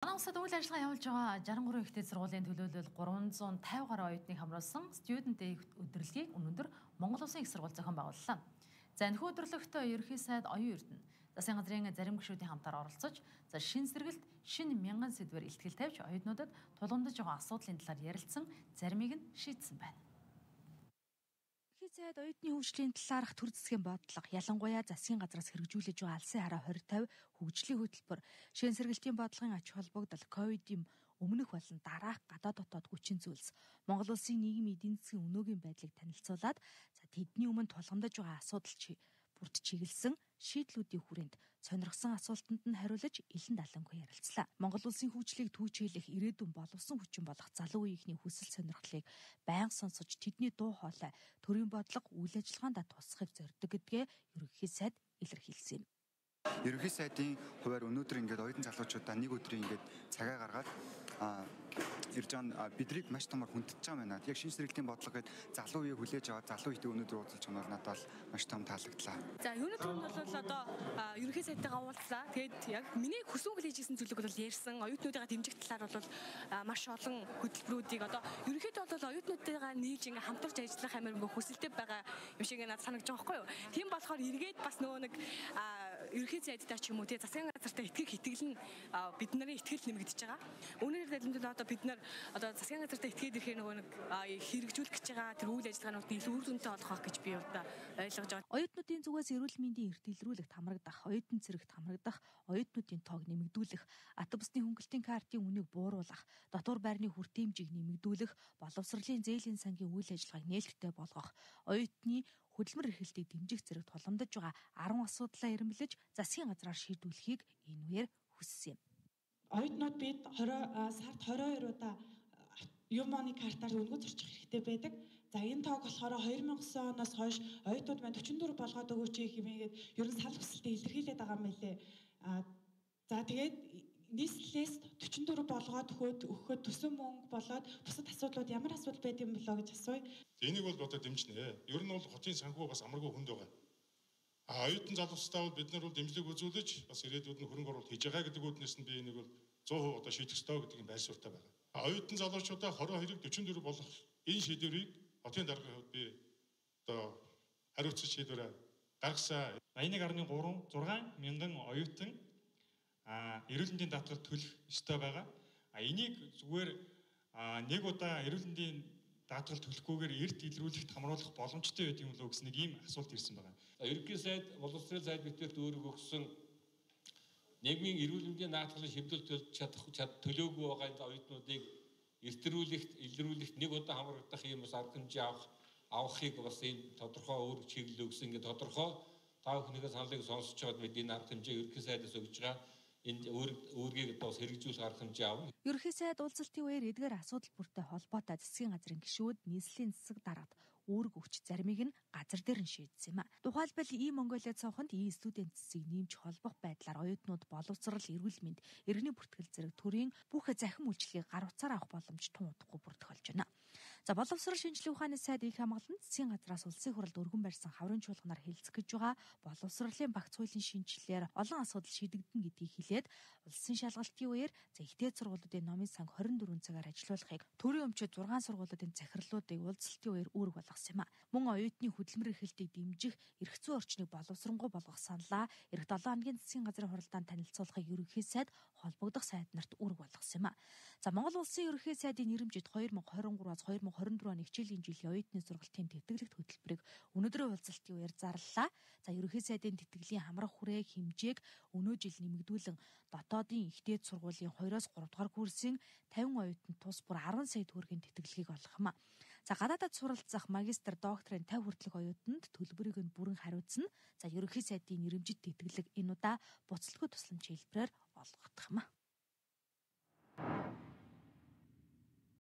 Манай улсад үйл ажиллагаа явуулж байгаа 63 ихтэй сургуулийн төлөөлөл 350 гаруй оюутныг хамруулсан Student Day өдрөлгийг өнөөдөр Монгол Улсын их сургууль зохион байгууллаа. За энэхүү өдрөлгөт ерөнхий сайд Оюун Эрдэнэ засгийн газрын зарим гишүүдийн хамтаар оролцож, шин сэргэлт, шин мянган сэдвээр илтгэл тавьж оюутнуудад тулгамдж байгаа асуудлын талаар ярилцсан, заримыг нь шийдсэн байна. Сайд оюутны хөгжлийн талаарх төр засгийн бодлого, ялангуяа засгийн газраас хэрэгжүүлж байгаа алсын хараа 2050 хөгжлийн хөтөлбөр, шин сэргэлтийн бодлогын ач холбогдол, ковидын өмнөх болон дараах гадаад дотоод хүчин зүйлс, Монгол улсын нийгмийн эдийн засгийн өнөөгийн байдлыг танилцуулаад, тэдний өмнө тулгамдж байгаа асуудал бүрд чиглэсэн шийдлүүдийн хүрээнд сонирхсан асуултанд нь хариулж илэн далангүй ярилцлаа. Монгол улсын хөгжлийг түүчилэх ирээдүйн боловсон хүчин болох залуу үеийнхний хүсэл сонирхлыг байнга сонсож тэдний дуу хоолой, төрийн бодлого, үйл ажиллагаанд тусахыг зорддог гэдгээ ерөнхий сайд илэрхийлсэн юм. Ерөнхий сайдын хувьар өнөөдөр ингээд оюутан залуучуудаа нэг өдрийн ингээд цагаа гаргаад ирж байгаа бидрийг маш томор хүндэж байгаа байна. Яг шин сэргэлтийн бодлого гээд залуу үеийг хүлээж аваад залуу үетэй өнөөдөр уулзалж байгаа нь надад бол маш том таалагдлаа. За өнөөдөр нь бол одоо ерөнхий сайдтайгаа уулзлаа. Тэгээд яг миний хүссэн хүлээж ирсэн зүйлийг бол ярьсан. Оюутнуудаа дэмжих талаар бол маш олон хөтөлбөрүүдийг одоо ерөнхийдөө бол оюутнуудтайгаа нийлж ингээ хамтарч ажиллах амар ингээ хүсэлтэй байгаа юм шиг надад санагдаж байгаа байхгүй юу. Тийм болохоор эргээд бас нөгөө нэг ерөнхий сайдтай ч юм уу тий засгийн газартай итгэл нь бид нарын итгэл нэмэгдэж байгаа. Үүнээр дэлгэмжлэл одоо бид нар одоо засгийн газартай итгээд ирэхээр нөгөө нэг хэрэгжүүлэх гэж байгаа тэр үйл ажиллагаанууд илүү үр дүнтэй болох байх гэж би одоо ойлгож байгаа. Оюутнуудын зүгээс эрүүл мэндийн эрт илрүүлэгт хамрагдах, оюутан цэрэгт хамрагдах, оюутнуудын тоог нэмэгдүүлэх, автобусны хөнгөлтийн картын үнийг бууруулах, дотор байрны хүртээмжийг нэмэгдүүлэх, боловсролын зээлийн сангийн үйл ажиллагааг нээлттэй болгох, оюутны хөдөлмөр эрхлэлтийг дэмжих зэрэг тулгамдж байгаа 10 асуудлаа эренбэлж засгийн газраар шийдвэрлэхийг энэ үеэр хүссэн юм. Оюутнууд бид сард 22 удаа Юмоны картаар өнгө зорчих хэрэгтэй байдаг. За энэ тоог болохоор 2009 оноос хойш оюутнууд маань 44 болгоод өгөөч хэмээгээд ер нь санал хүсэлтэд илэрхийлээд байгаа юм байлээ. За тэгээд нийслэлээс 44 болгоод өгөхөд төсөн мөнгө болоод бусад асуудлууд ямар асуудал байд юм болоо гэж асууя. Энийг бол одоо дэмжинэ. Ер нь бол хотын санхүү бас амаргүй хүнд байгаа. Оюутан залуучуудаа бол бид нар бол дэмжлэг үзүүлж бас ирээдүйд нь хөрөнгө оруулалт хийж байгаа гэдэг үүднээс нь би энийг бол 100% одоо шийдэх ёстой гэдэг нь байр суурьтай байгаа. Оюутан залуучуудаа 22-ыг 44 болгох энэ шийдвэрийг хотын даргын хувьд би одоо хариуцсан шийдвэрээ гаргасан. 81.36 мянган оюутан эрүүл мэндийн даатгалд төлөх ёстой байгаа. Энийг зүгээр нэг удаа эрүүл мэндийн даатгал төлөхгүйгээр эрт илрүүлэхт хамруулах боломжтой байдаг юм лөө гэсэн нэг ийм асуулт ирсэн байгаа. Ерөнхий сайд, боловсролын сайд биднэрт өөрөг өгсөн нийгмийн эрүүл мэндийн даатгалын шийдвэрлэж чадах төлөөгүй байгаа оюутнуудыг илрүүлэхт нэг удаа хамрагдах ийм бас арга хэмжээ авахыг бас энэ тодорхой өөр чиглэл өгсөн. Ингээд тодорхой та бүхнийхээ саналыг сонсож байгаад бид энэ арга хэмжээ ерөнхий сайдаас өгж байгаа. Энд өөргийг бас хэрэгжүүлэх арга хэмжээ авна. Ерөнхий сайд уулзалтын үеэр эдгээр асуудал бүртэй холбоотой засгийн газрын гишүүд нийслэлийн засаг дараад үүрэг өгч заримыг нь газар дээр нь шийдсэн юм а. Тухайлбал Монголиа цонхонд студент засгийг нэмж холбох байдлаар оюутнууд боловсрал, эрүүл мэнд, иргэний бүртгэл зэрэг төрийн бүх захин үйлчлэгийг гар утсаар авах боломж тун удахгүй бүрдэх болж байна. За боловсрол шинжилгээ ухааны сайд их хамгаалалт засгийн газраас улсын хурлд өргөн барьсан хаврын чуулганаар хэлцэх гэж байгаа боловсролын багц хуулийн шинжилгээр олон асуудал шийдэгдэн гэдгийг хэлээд улсын шалгалтын үеэр ихтэй сургуулиудын номын санг 24 цагаар ажилуулахыг төрийн өмчөд 6 сургуулиудын захирлуудыг уулзалтын үеэр үүрэг болгосон юм а. Мөн оюутны хөдөлмөр эрхлэлтийг дэмжих, эрх зүйн орчныг боловсронгуй болгох саналаа эх 7 хоногийн засгийн газрын хуралдаанд танилцуулахыг ерөнхий сайд холбогдох сайд нарт үүрэг болгосон юм а. За Монгол улсын ерөнхий сайдын нэрэмжит 2023-аас 2024 оны хичээлийн жилийн оюутны сургалтын тэтгэлэгт хөтөлбөрийг өнөөдрийн уулзалтын үеэр зарлалаа. За ерөнхий сайдын тэтгэлийн хамрах хүрээ хэмжээг өнөө жил нэмэгдүүлэн дотоодын ихтэй сургуулийн 2-оос 3 дугаар курсын 50 оюутанд тус бүр 10 сая төгрөгийн тэтгэлгийг олгох юм а. За гадаадад суралцах магистр, докторын 50 хүртэлх оюутанд төлбөрийг нь бүрэн хариуцна. За ерөнхий сайдын нэрэмжит тэтгэлэг энэ удаа буцалтгүй тусламж хэлбэрээр олгогдох юм а.